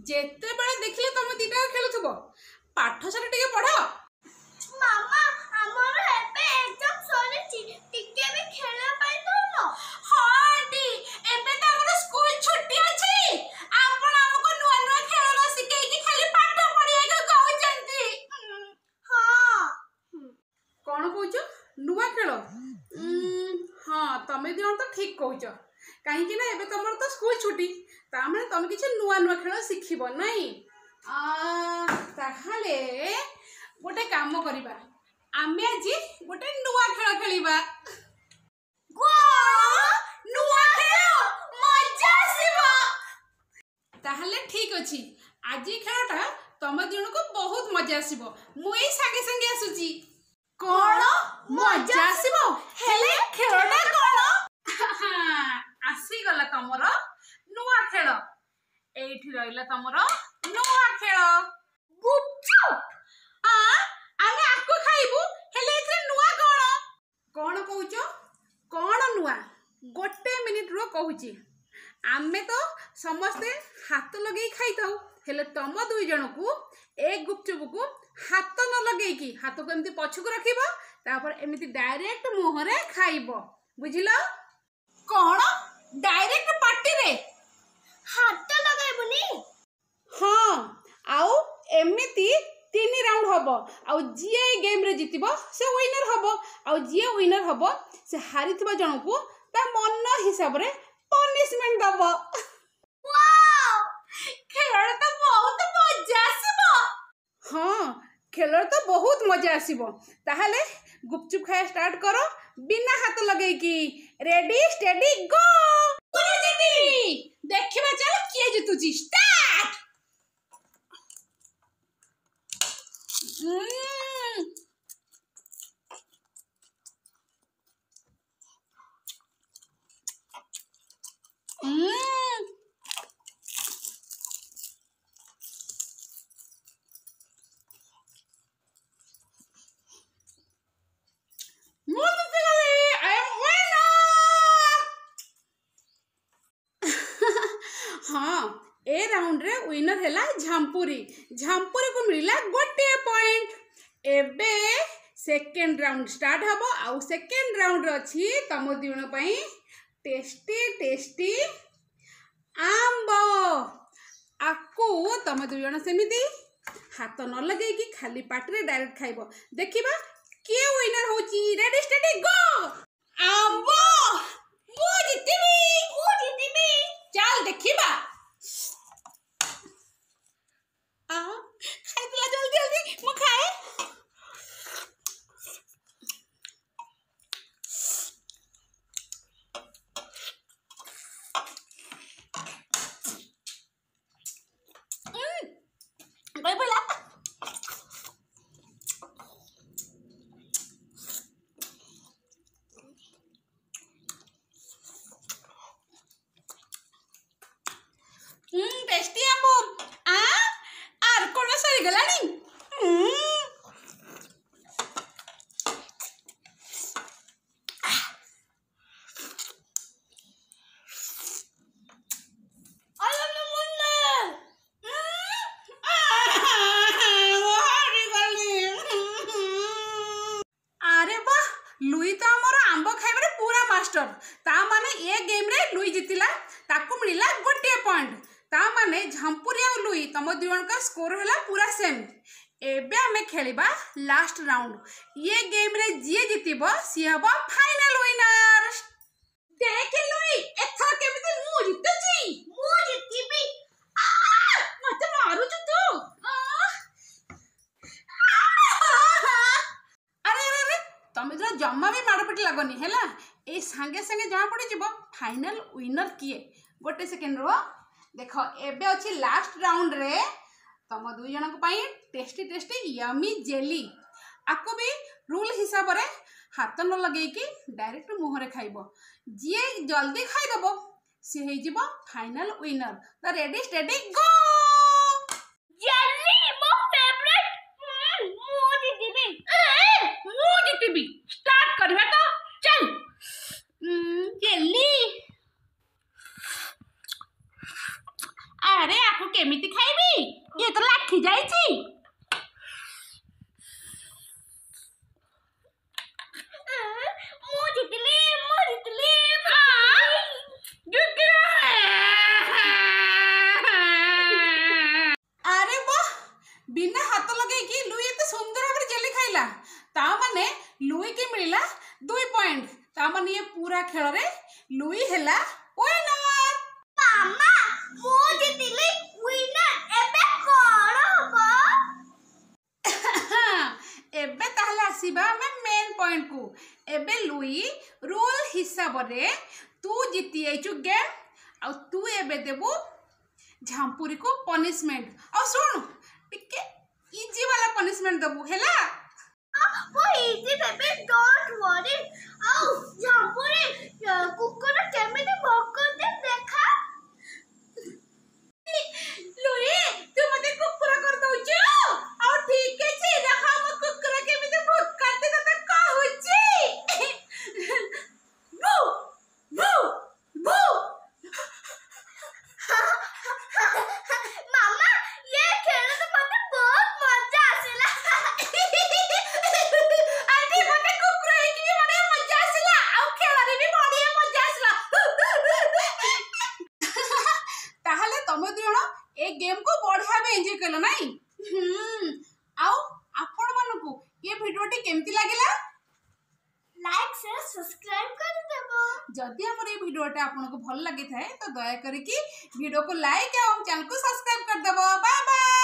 ଯେତେବେଳେ ଦେଖିଲେ ତମେ ଦିଟା ଖେଳୁଥିବ, ପାଠ ସାଠ ଟିକେ ପଢ। ମାମା, ଆମର ଏବେ ଏକ୍ଜାମ ସରିଛି, ଟିକେ ବି ଖେଳିବା ପାଇଁ ଦଉନ। ହଁ ଆଣ୍ଟି, ଏବେ ତ ଆମର ସ୍କୁଲ ଛୁଟି ଅଛି। ଆପଣ ଆମକୁ ନୂଆ ନୂଆ ଖେଳ ନ ଶିଖେଇକି ଖାଲି ପାଠ ପଢିବାକୁ କହୁଛନ୍ତି। ହଁ। କଣ କହୁଛ, ନୂଆ ଖେଳ? ହଁ, ତମେ ଦି ଜଣ ତ ଠିକ କହୁଛ, କାହିଁକି ନା ଏବେ ତମର ତ ସ୍କୁଲ ଛୁଟି, ତା ମାନେ ତମେ କିଛି ନୂଆ ନୂଆ ଖେଳ ଶିଖିବ ନାଇଁ? ତାହେଲେ ଗୋଟେ କାମ କରିବା, ଆମେ ଆଜି ଗୋଟେ ନୂଆ ଖେଳ ଖେଳିବା। ନୂଆ ଖେଳ, ମଜା ଆସିବ। ତାହେଲେ ଠିକ ଅଛି, ଆଜି ଖେଳଟା ତମ ଦି ଜଣଙ୍କୁ ବହୁତ ମଜା ଆସିବ। ମୁଁ ଏଇ ସାଙ୍ଗେ ସାଙ୍ଗେ ଆସୁଛି। କଣ ମଜା ଆସିବ? ହେଲେ ଖେଳଟା କଣ? ଆସିଗଲା ତମର ନୂଆ ଖେଳ। ଏଇଠି ରହିଲା ତମର ନୂଆ ଖେଳ, ଗୁପଚୁପ। ଆମେ ଆକୁ ଖାଇବୁ, ହେଲେ ଏଥିରେ ନୂଆ କଣ? କଣ କହୁଛ, କଣ ନୂଆ? ଗୋଟେ ମିନିଟ ରୁହ, କହୁଛି। ଆମେ ତ ସମସ୍ତେ ହାତ ଲଗେଇ ଖାଇଥାଉ, ହେଲେ ତମ ଦୁଇ ଜଣକୁ ଏ ଗୁପଚୁପକୁ ହାତ ନ ଲଗେଇକି ହାତକୁ ଏମିତି ପଛକୁ ରଖିବ, ତାପରେ ଏମିତି ଡାଇରେକ୍ଟ ମୁହଁରେ ଖାଇବ, ବୁଝିଲ? କଣ, ଡାଇରେକ୍ଟ ପାଟିରେ? ହାତ ଲଗାଇବୁନି? ହଁ, ଆଉ ଏମିତି 3 ରାଉଣ୍ଡ ହବ, ଆଉ ଯିଏ ଏଇ ଗେମ୍ରେ ଜିତିବ ସେ ୱିନର ହବ, ଆଉ ଯିଏ ୱିନର ହବ ସେ ହାରିଥିବା ଜଣକୁ ତା ମନ ହିସାବରେ ପନିଶମେଣ୍ଟ ଦବ। ଖେଳରେ ତ ବହୁତ ମଜା ଆସିବ। ହଁ, ଖେଳରେ ତ ବହୁତ ମଜା ଆସିବ। ତାହେଲେ ଗୁପଚୁପ ଖାଇବା ଷ୍ଟାର୍ଟ କର ବିନା ହାତ ଲଗେଇକି। Ready, steady, go! ମୁଁ ଜିତିବି। ଦେଖିବା ଚାଲ କିଏ ଜିତୁଛି। ଷ୍ଟାର୍ଟ। ମୁଁ ଜିତିଗଲି। I am winner. ହଁ, ଏ ରାଉଣ୍ଡରେ ୱିନର ହେଲା ଝାମ୍ପୁରୀ। ଝାମ୍ପୁରୀକୁ ମିଳିଲା ଗୋଟିଏ ପଏଣ୍ଟ। ଏବେ ସେକେଣ୍ଡ ରାଉଣ୍ଡ ଷ୍ଟାର୍ଟ ହବ, ଆଉ ସେକେଣ୍ଡ ରାଉଣ୍ଡରେ ଅଛି ତମ ଦୁଇ ଜଣ ପାଇଁ ଟେଷ୍ଟି ଟେଷ୍ଟି ଆମ୍ବ। ଆକୁ ତମେ ଦୁଇ ଜଣ ସେମିତି ହାତ ନ ଲଗେଇକି ଖାଲି ପାଟିରେ ଡାଇରେକ୍ଟ ଖାଇବ। ଦେଖିବା କିଏ ୱିନର ହଉଛି। Ready, steady, go! ଆମ୍ବ, ମୁଁ ଜିତିବି। ମୁଁ ଜିତିବି। ଚାଲ ଦେଖିବା। ଖାଇଥିଲା, ଜଲ୍ଦି ଜଲ୍ଦି ମୁଁ ଖାଏ। ଗଳି ପଇଲା। ଟେଷ୍ଟି ଆମ୍ବ। ଆର କଣ ସରିଗଲାଣି? I am the winner. ହାରିଗଲି। ଆରେ ବାহ, ଲୁଇ ତ ଆମର ଆମ୍ବ ଖାଇବାରେ ପୁରା ମାଷ୍ଟର। ତା ମାନେ ଏ ଗେମ୍ରେ ଲୁଇ ଜିତିଲା, ତାକୁ ମିଳିଲା ଗୋଟିଏ ପଏଣ୍ଟ। ତା ମାନେ ଝାମ୍ପୁରୀ ଆଉ ଲୁଇ, ତମ ଦୁଇ ଜଣଙ୍କ ସ୍କୋର ହେଲା ପୁରା ସେମ୍। ଏବେ ଆମେ ଖେଳିବା ଲାଷ୍ଟ ରାଉଣ୍ଡ। ଇଏ ଗେମ୍ରେ ଯିଏ ଜିତିବ ସିଏ ହବ ଫାଇନାଲ ୱିନର। ଦେଖେ ଲୁଇ, ଏଥର କେମିତି ମୁଁ ଜିତୁଛି। ମୁଁ ଜିତିବି। ମତେ ମାରୁଛୁ ତୁ। ଆରେ ଆରେ ଆରେ, ତମେ ତ ଜମା ବି ମାଡ଼ପିଟ ଲାଗନି, ହେଲା? ଏଇ ସାଙ୍ଗେ ସାଙ୍ଗେ ଜଣା ପଡ଼ିଯିବ ଫାଇନାଲ ୱିନର କିଏ। ଗୋଟେ ସେକେଣ୍ଡ ରୁହ। ଦେଖ, ଏବେ ଅଛି ଲାଷ୍ଟ ରାଉଣ୍ଡରେ ତମ ଦୁଇ ଜଣଙ୍କ ପାଇଁ ଟେଷ୍ଟି ଟେଷ୍ଟି ୟମି ଜେଲି। ଆକୁ ବି ରୁଲ୍ ହିସାବରେ ହାତ ନ ଲଗେଇକି ଡାଇରେକ୍ଟ ମୁହଁରେ ଖାଇବ। ଯିଏ ଜଲ୍ଦି ଖାଇଦବ ସିଏ ହେଇଯିବ ଫାଇନାଲ ୱିନର। ତ ରେଡି, ଷ୍ଟେଡି, ଗୋ! ଜେଲି ମୋ ଫେଭରେଟ। ମୁଁ ଜିତିବି। ମୁଁ ଜିତିବି। ଷ୍ଟାର୍ଟ କରିବା ତ, ଚାଲ। ଜେଲି, ଆରେ ଆକୁ କେମିତି ଖାଇବି? ତା ମାନେ ଏ ପୁରା ଖେଳରେ ଲୁଇ ହେଲା ୱିନର। ମାମା, ମୁଁ ଜିତିଲି ୱିନର, ଏବେ କଣ ହବ? ଏବେ ତାହେଲେ ଆସିବା ଆମେ ମେନ୍ ପଏଣ୍ଟକୁ। ଏବେ ଲୁଇ, ରୁଲ୍ ହିସାବରେ ତୁ ଜିତି ଯାଇଛୁ ଗେମ୍, ଆଉ ତୁ ଏବେ ଦେବୁ ଝାମ୍ପୁରୀକୁ ପନିଶମେଣ୍ଟ। ଆଉ ଶୁଣୁ, ଟିକେ ଇଜି ବାଲା ପନିଶମେଣ୍ଟ ଦେବୁ, ହେଲା? ମୁଁ ଇଜି ଦେବି, don't worry. ଆଉ ଝାମ୍ପୁରୀ, କୁକୁର କେମିତି ଭୋକନ୍ତି ଦେଖା। ଲୁଇ, ତୁ ମତେ କୁକୁର କରିଦଉଛୁ? ଆଉ ଠିକ ଅଛି, ରହ, ମୋ କୁକୁର କେମିତି ଭୋକନ୍ତି ତତେ କହୁଛି। ଭୁ ଭୁ ଭୁ। ମାମା, ଏ ଖେଳ ତ ମତେ ବହୁତ ମଜା ଆସିଲା। ଆଣ୍ଟି, ମତେ କୁକୁର ହେଇକି ବି ବଢିଆ ମଜା ଆସିଲା, ଆଉ ଖେଳରେ ବି ବଢିଆ ମଜା ଆସିଲା। ତାହେଲେ ତମେ ଦୁଇ ଜଣ ଏ ଗେମ୍କୁ ବଢିଆ ଭାବେ ଏନ୍ଜୟ କଲ, ନାଇଁ? ଆଉ ଆପଣମାନଙ୍କୁ ଏ ଭିଡ଼ିଓଟି କେମିତି ଲାଗିଲା? ଲାଇକ୍, ସେୟାର, ସବସ୍କ୍ରାଇବ କରିଦେବ। ଯଦି ଆମର ଏଇ ଭିଡ଼ିଓଟା ଆପଣଙ୍କୁ ଭଲ ଲାଗିଥାଏ, ତ ଦୟା କରିକି ଭିଡ଼ିଓକୁ ଲାଇକ୍ ଆଉ ଆମ ଚ୍ୟାନେଲକୁ ସବସ୍କ୍ରାଇବ କରିଦେବ। Bye bye.